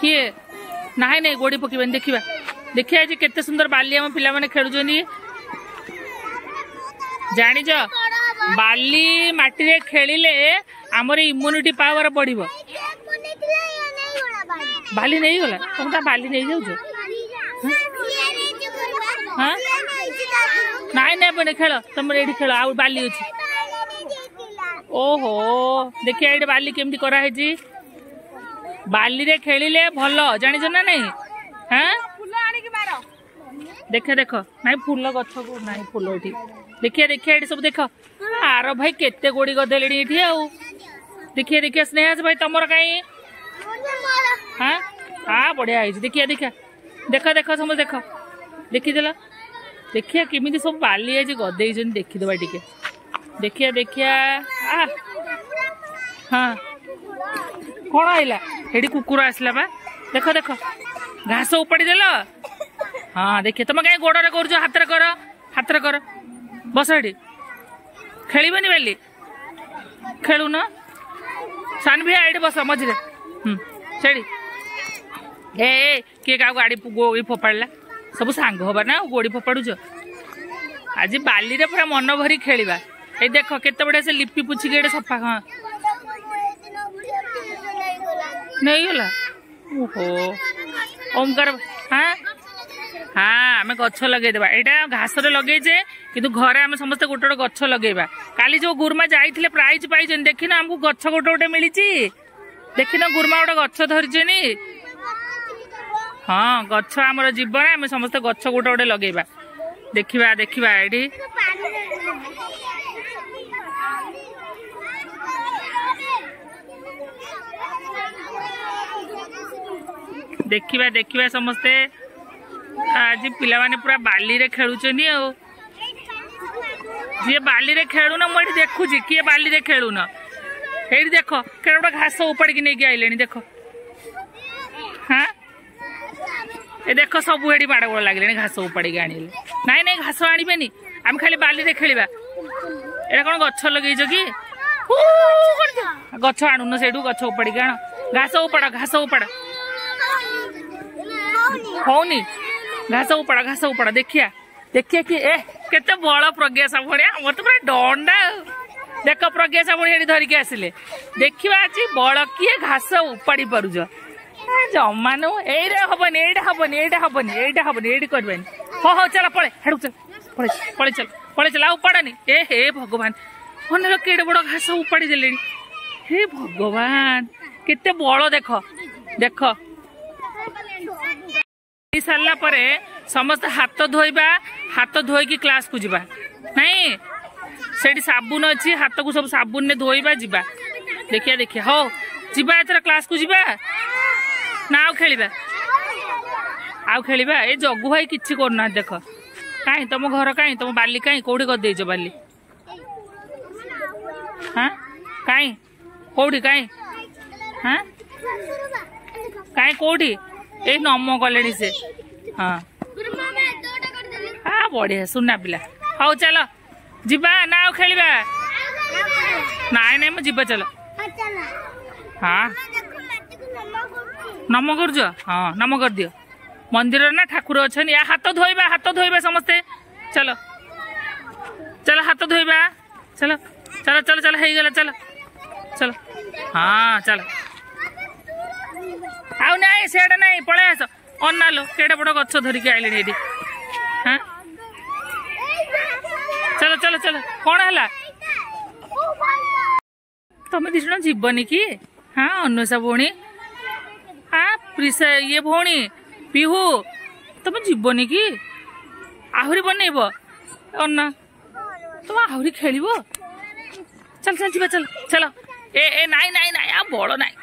କିଏ? ନାଇଁ ନାଇଁ, ଗୋଡ଼ି ପକେଇବାନି। ଦେଖିବା ଦେଖିବା ଆଜି କେତେ ସୁନ୍ଦର ବାଲି ଆମ ପିଲାମାନେ ଖେଳୁଛନ୍ତି। ଜାଣିଛ, ବାଲି ମାଟିରେ ଖେଳିଲେ ଆମର ଇମ୍ୟୁନିଟି ପାୱାର ବଢିବ। ବାଲି ନେଇଗଲା? ତମେ ତା ବାଲି ନେଇଯାଉଛ? ହଁ, ନାଇଁ ନେବନି, ଖେଳ ତମର ଏଇଠି ଖେଳ, ଆଉ ବାଲି ଅଛି। ଓହୋ, ଦେଖିବା ଏଇଠି ବାଲି କେମିତି କରାହେଇଛି। ବାଲିରେ ଖେଳିଲେ ଭଲ, ଜାଣିଛ ନା ନାଇଁ? ହଁ, ଦେଖ ଦେଖ, ନାଇଁ ଫୁଲ ଗଛକୁ ନାଇଁ ଫୁଲ ଏଠି। ଦେଖିବା ଦେଖିବା ଏଠି ସବୁ ଦେଖ। ଆର ଭାଇ କେତେ ଗୋଡି ଗଦେଲେଣି ଏଠି। ଆଉ ଦେଖିବା ଦେଖିବା, ସ୍ନେହାସ ଭାଇ ତମର କାହିଁ? ହଁ ହଁ, ବଢିଆ ହେଇଛି। ଦେଖିବା ଦେଖିବା, ଦେଖ ଦେଖ, ସମସ୍ତେ ଦେଖ, ଦେଖିଦେଲ। ଦେଖିବା କେମିତି ସବୁ ବାଲି ଆଜି ଗଦେଇଛନ୍ତି, ଦେଖିଦେବା ଟିକେ। ଦେଖିବା ଦେଖିବା। ଆ ହଁ, କଣ ଆଇଲା ଏଠି? କୁକୁର ଆସିଲା ବା। ଦେଖ ଦେଖ, ଘାସ ଉପାଡି ଦେଲ। ହଁ ଦେଖିଆ, ତମେ କାହିଁ ଗୋଡରେ କରୁଛ? ହାତରେ କର, ହାତରେ କର। ବସ ଏଠି, ଖେଳିବନି ବାଲି? ଖେଳୁନ? ସାନଭିଆ ଏଇଠି ବସ ମଝିରେ। ହୁଁ, ସେଇଠି। ଏ କିଏ କାହାକୁ ଗାଡ଼ି ଗୋଡ଼ି ଫୋପାଡ଼ିଲା? ସବୁ ସାଙ୍ଗ ହବା ନା, ଆଉ ଗୋଡ଼ି ଫୋପାଡୁଛ? ଆଜି ବାଲିରେ ପୁରା ମନ ଭରି ଖେଳିବା। ଏଇ ଦେଖ କେତେ ବଢିଆ ସେ ଲିପି ପୁଛିକି ଏଠି ସଫା। ହଁ, ନେଇଗଲା। ଓହୋ, ଓମକାର। ହଁ ହଁ, ଆମେ ଗଛ ଲଗେଇଦେବା। ଏଇଟା ଘାସରେ ଲଗେଇଛେ, କିନ୍ତୁ ଘରେ ଆମେ ସମସ୍ତେ ଗୋଟେ ଗୋଟେ ଗଛ ଲଗେଇବା। କାଲି ଯୋଉ ଗୁରୁମା ଯାଇଥିଲେ ପ୍ରାଇଜ ପାଇଛନ୍ତି, ଦେଖିନ? ଆମକୁ ଗଛ ଗୋଟେ ଗୋଟେ ମିଳିଛି, ଦେଖିନ? ଗୁରୁମା ଗୋଟେ ଗଛ ଧରିଛନ୍ତି। ହଁ, ଗଛ ଆମର ଜୀବନ, ଆମେ ସମସ୍ତେ ଗଛ ଗୋଟେ ଗୋଟେ ଲଗେଇବା। ଦେଖିବା ଦେଖିବା ଏଇଠି। ଦେଖିବା ଦେଖିବା ସମସ୍ତେ। ଆଜି ପିଲାମାନେ ପୁରା ବାଲିରେ ଖେଳୁଛନ୍ତି। ଆଉ ଯିଏ ବାଲିରେ ଖେଳୁନ, ମୁଁ ଏଠି ଦେଖୁଛି କିଏ ବାଲିରେ ଖେଳୁନ। ଏଇଠି ଦେଖ, କେଡ଼େ ଗୋଟେ ଘାସ ଉପାଡ଼ିକି ନେଇକି ଆଇଲେଣି ଦେଖ। ହଁ, ଏ ଦେଖ, ସବୁ ଏଠି ମାଡ଼ଗୋଳ ଲାଗିଲେଣି ଘାସ ଉପାଡ଼ିକି ଆଣିଲେ। ନାଇଁ ନାଇଁ, ଘାସ ଆଣିବେନି, ଆମେ ଖାଲି ବାଲିରେ ଖେଳିବା। ଏଇଟା କଣ ଗଛ ଲଗେଇଛ କି? ଗଛ ଆଣୁନ ସେଇଠୁ, ଗଛ ଉପାଡ଼ିକି ଆଣ। ଘାସ ଉପାଡ଼, ଘାସ ଉପାଡ଼। ହଉନି, ଘାସ ଉପାଡ଼, ଘାସ ଉପାଡ଼। ଦେଖିଆ ଦେଖିଆ କି ଏ କେତେ ବଳ ପ୍ରଜ୍ଞା ସାବୁଣି, ଆମର ତ ପୁରା ଡଣ୍ଡା। ଦେଖ, ପ୍ରଜ୍ଞା ସାବୁଣି ଏଠି ଧରିକି ଆସିଲେ। ଦେଖିବା ଆଜି ବଳ କିଏ ଘାସ ଉପାଡ଼ି ପାରୁଛ। ଜମା ନୁ, ଏଇଟା ହବନି, ଏଇଟା ହବନି, ଏଇଟା ହବନି, ଏଇଟା ହବନି, ଏଇଠି କରିବାନି। ହଉ ହଉ, ଚାଲ ପଳେ ହେଡ଼କୁ, ଚାଲ ପଳେ, ପଳେଇ ଚାଲ, ପଳେଇ ଚାଲ, ଆଉ ଉପାଡ଼ନି। ଏ ହେ ଭଗବାନ, ଅନେକ କେଡ଼େ ବଡ଼ ଘାସ ଉପାଡ଼ି ଦେଲେଣି। ହେ ଭଗବାନ, କେତେ ବଳ ଦେଖ ଦେଖ। ସାରିଲା ପରେ ସମସ୍ତେ ହାତ ଧୋଇବା, ହାତ ଧୋଇକି କ୍ଲାସକୁ ଯିବା। ନାଇଁ, ସେଇଠି ସାବୁନ ଅଛି, ହାତକୁ ସବୁ ସାବୁନରେ ଧୋଇବା, ଯିବା। ଦେଖିବା ଦେଖିବା, ହଉ ଯିବା ଏଥର କ୍ଲାସକୁ ଯିବା ନା ଆଉ ଖେଳିବା? ଆଉ ଖେଳିବା। ଏ ଜଗୁ ଭାଇ କିଛି କରୁନାହାନ୍ତି ଦେଖ। କାହିଁ ତମ ଘର କାହିଁ? ତମ ବାଲି କାହିଁ? କୋଉଠି କରିଦେଇଛ ବାଲି? ହଁ, କାହିଁ କୋଉଠି? କାହିଁ? ହଁ, କାହିଁ କୋଉଠି? ଏଇ ନମ କଲେଣି ସେ। ହଁ ହଁ, ବଢିଆ ସୁନା ପିଲା। ହଉ ଚାଲ ଯିବା ନା ଆଉ ଖେଳିବା? ନାଇଁ ନାଇଁ, ମୁଁ ଯିବା, ଚାଲ। ହଁ, ନମ କରୁଛ? ହଁ, ନମ କରିଦିଅ। ମନ୍ଦିରରେ ନା ଠାକୁର ଅଛନ୍ତି। ହାତ ଧୋଇବା, ହାତ ଧୋଇବା ସମସ୍ତେ। ଚାଲ ଚାଲ, ହାତ ଧୋଇବା, ଚାଲ ଚାଲ ଚାଲ ଚାଲ, ହେଇଗଲା, ଚାଲ ଚାଲ। ହଁ ଚାଲ, ଆଉ ନାଇଁ, ସିଆଡ଼େ ନାଇଁ, ପଳେଇ ଆସ। ଅନାଲୋ, କେଡ଼େ ବଡ଼ ଗଛ ଧରିକି ଆଇଲେଣି ଏଠି। ହଁ, ଚାଲ ଚାଲ ଚାଲ। କଣ ହେଲା, ତମେ ଦି ଜଣ ଯିବନି କି? ହଁ, ଅନ୍ୱେଷା ଭଉଣୀ, ହଁ ପ୍ରିସା, ଇଏ ଭଉଣୀ ପିହୁ, ତମେ ଯିବନି କି? ଆହୁରି ବନେଇବ? ଅନା, ତମେ ଆହୁରି ଖେଳିବ? ଚାଲ ଚାଲ, ଯିବା, ଚାଲ ଚାଲ। ଏ ଏ, ନାଇଁ ନାଇଁ ନାଇଁ, ଆଉ ବଳ ନାଇଁ।